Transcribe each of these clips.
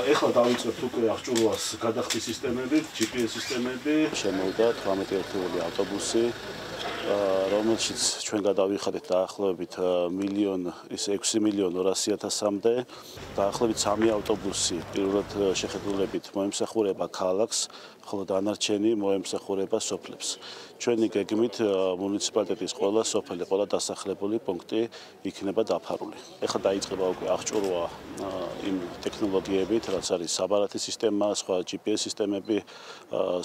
ეხლა დავიწყებთ უკვე აღჭურვას გადახდის სისტემებით, GPS სისტემები. Შემოვიდა 18 ერთეული ავტობუსი, რომელშიც ჩვენ გადავიხადეთ დაახლოებით 6,200,000-მდე. დაახლოებით 3 ავტობუსი პირველად შეხედულებით მოემსახურება ქალაქს, ხოლო დანარჩენი მოემსახურება სოფლებს. ჩვენი გეგმით მუნიციპალიტეტის ყველა სოფელი, ყველა დასახლებული პუნქტი იქნება დაფარული. ეხლა დაიწყება უკვე აღჭურვა იმ ტექნოლოგიებით, რაც არის საბარათი სისტემა, სხვა GPS სისტემები,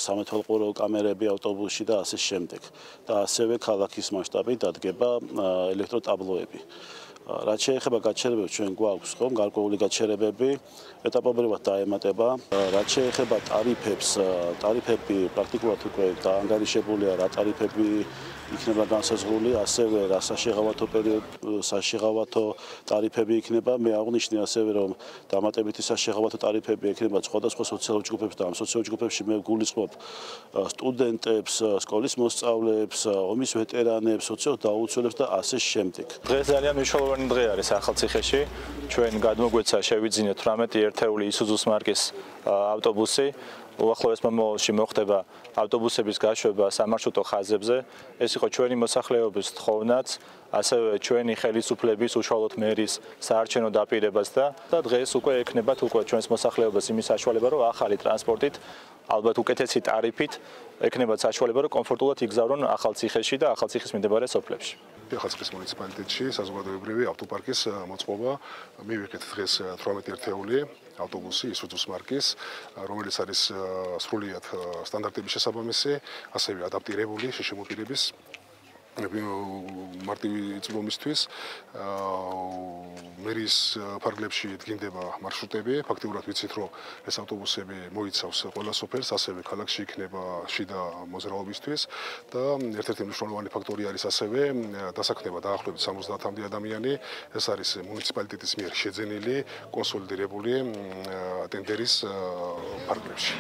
სამეთვალყურო კამერები ავტობუსში და ასე შემდეგ. და ასევე ქალაქის მასშტაბით დადგება ელექტროტაბლოები. რაც შეეხება გაჩერებებს, ჩვენ გვაქვს ხომ გარკვეული გაჩერებები, ეტაპობრივად დაემატება. რაც შეეხება ტარიფებს, ტარიფები პრაქტიკულად უკვე დაანგარიშებულია, რა ტარიფები იქნება განსაზღვრული, ასევე რა საშეღავათო ტარიფები იქნება. მე აღვნიშნე ასევე, რომ დამატებითი საშეღავათო ტარიფები იქნება სხვადასხვა სოციალურ ჯგუფებს და ამ სოციალურ ჯგუფებში მე გულისხმობ სტუდენტებს, სკოლის მოსწავლეებს, ომის ვეტერანებს, სოციალურ დაუცველებს და ასე შემდეგ. დღეს ძალიან მნიშვნელოვანი დღე არის ახალციხეში. ჩვენ გადმოგვეცა შევიძინეთ 18 ერთეული ისუზუს მარკის ავტობუსი. უახლოეს მომავალში მოხდება ავტობუსების გაშვება სამარშრუტო ხაზებზე. ეს იყო ჩვენი მოსახლეობის თხოვნაც, ასევე ჩვენი ხელისუფლების უშუალოდ მერის საარჩევნო დაპირებას და დღეს უკვე ექნებათ უკვე ჩვენს მოსახლეობას იმის საშუალება, რომ ახალი ტრანსპორტით, ალბათ უკეთესი ტარიფით ექნებათ საშუალება, რომ კომფორტულად იგზავნონ ახალციხეში და ახალციხის მიმდებარე სოფლებში. ახალციხის მუნიციპალიტეტში საზოგადოებრივი ავტოპარკის მოწყობა მივიღეთ დღეს 18 ერთეული ავტობუსი ისუზუს მარკის, რომელიც არის სრულიად სტანდარტების შესაბამისი, ასევე ადაპტირებული შეშემოპირების მარტივი წვდომისთვის. მერის ფარგლებში დგინდება მარშრუტები. ფაქტიურად ვიცით, რომ ეს ავტობუსები მოიცავს ყველა სოფელს, ასევე ქალაქში იქნება შიდა მოძრაობისთვის და ერთ-ერთი მნიშვნელოვანი ფაქტორი არის ასევე დასაქმება დაახლოებით 70-მდე ადამიანი. ეს არის მუნიციპალიტეტის მიერ შეძენილი კონსოლიდირებული ტენდერის ფარგლებში.